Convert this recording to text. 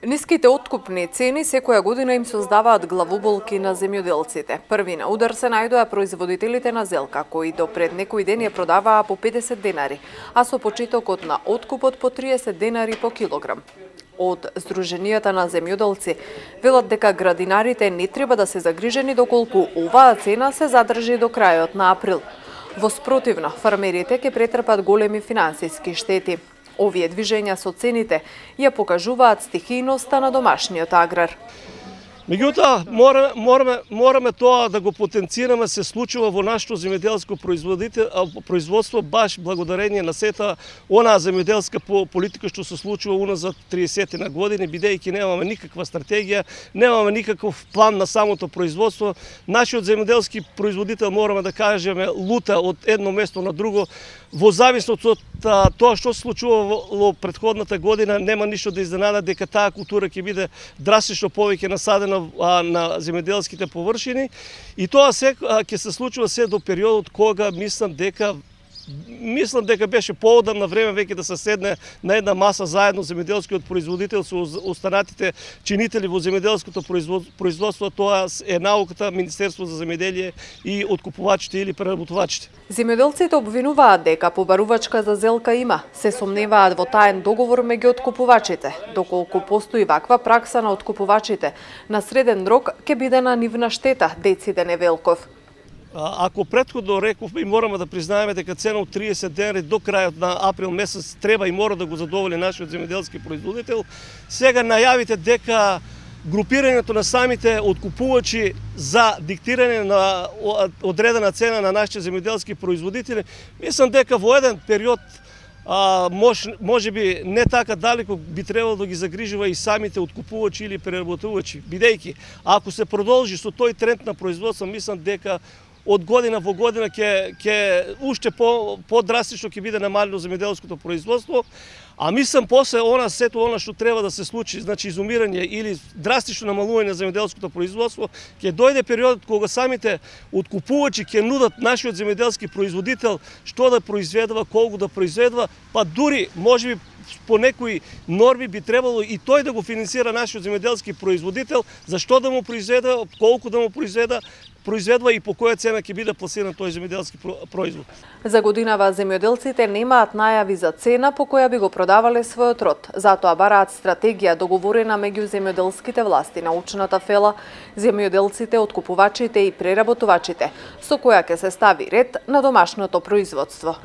Ниските откупни цени секоја година им создаваат главоболки на земјоделците. Први на удар се најдоа производителите на зелка, кои до пред некој ден ја продаваа по 50 денари, а со почетокот на откупот по 30 денари по килограм. Од Сдруженијата на земјоделци велат дека градинарите не треба да се загрижени доколку оваа цена се задржи до крајот на април. Во спротивно, фармерите ќе претрпат големи финансиски штети. Овие движења со цените ја покажуваат стихијноста на домашниот аграр. Меѓутоа, мораме тоа да го потенцираме, се случува во нашето земјоделско производство баш благодарение на сета онаа земјоделска политика што се случува уназад 30 на години, бидејќи немаме никаква стратегија, немаме никаков план на самото производство. Нашиот земјоделски производител, мораме да кажеме, лута од едно место на друго. Во зависност од тоа што се случува во претходната година, нема ништо да изненада дека таа култура ќе биде драстично повеќе насадена на земјоделските површини, и тоа се ќе се случува се до периодот кога мислам дека беше поодамна време веќе да се седне на една маса заедно земјоделскиот производител со останатите чинители во земјоделското производство. Тоа е науката, Министерство за земјоделие и откупувачите или преработувачите. Земјоделците обвинуваат дека побарувачка за зелка има. Се сомневаат во таен договор меѓу откупувачите. Доколку постои ваква пракса на откупувачите, на среден рок ќе биде на нивна штета, дециде Невелков. Ако претходно рековме и мораме да признаеме дека цена од 30 денари до крајот на април месец треба и мора да го задоволи нашиот земјоделски производител, сега најавите дека групирањето на самите откупувачи за диктирање на одредена цена на нашите земјоделски производители, мислам дека во еден период може би не така далеко би требало да ги загрижува и самите откупувачи или преработувачи, бидејќи ако се продолжи со тој тренд на производство, мислам дека од година во година ќе уште по-драстично ќе биде намалено земјоделското производство, а мислам после сето она што треба да се случи, значи изумирање или драстично намалување на земјоделското производство, ќе дојде периодот кога самите откупувачи ќе нудат нашиот земјоделски производител што да произведува, колку да произведува, па дури можеби по некои норми би требало и тој да го финансира нашиот земјоделски производител, за што да му произведе, колку да му произведува и по која цена ќе биде пласиран тој земјоделски производ. За годинава земјоделците немаат најави за цена по која би го продавале својот род. Затоа бараат стратегија договорена меѓу земјоделските власти, научната фела, земјоделците, откупувачите и преработувачите, со која ќе се стави ред на домашното производство.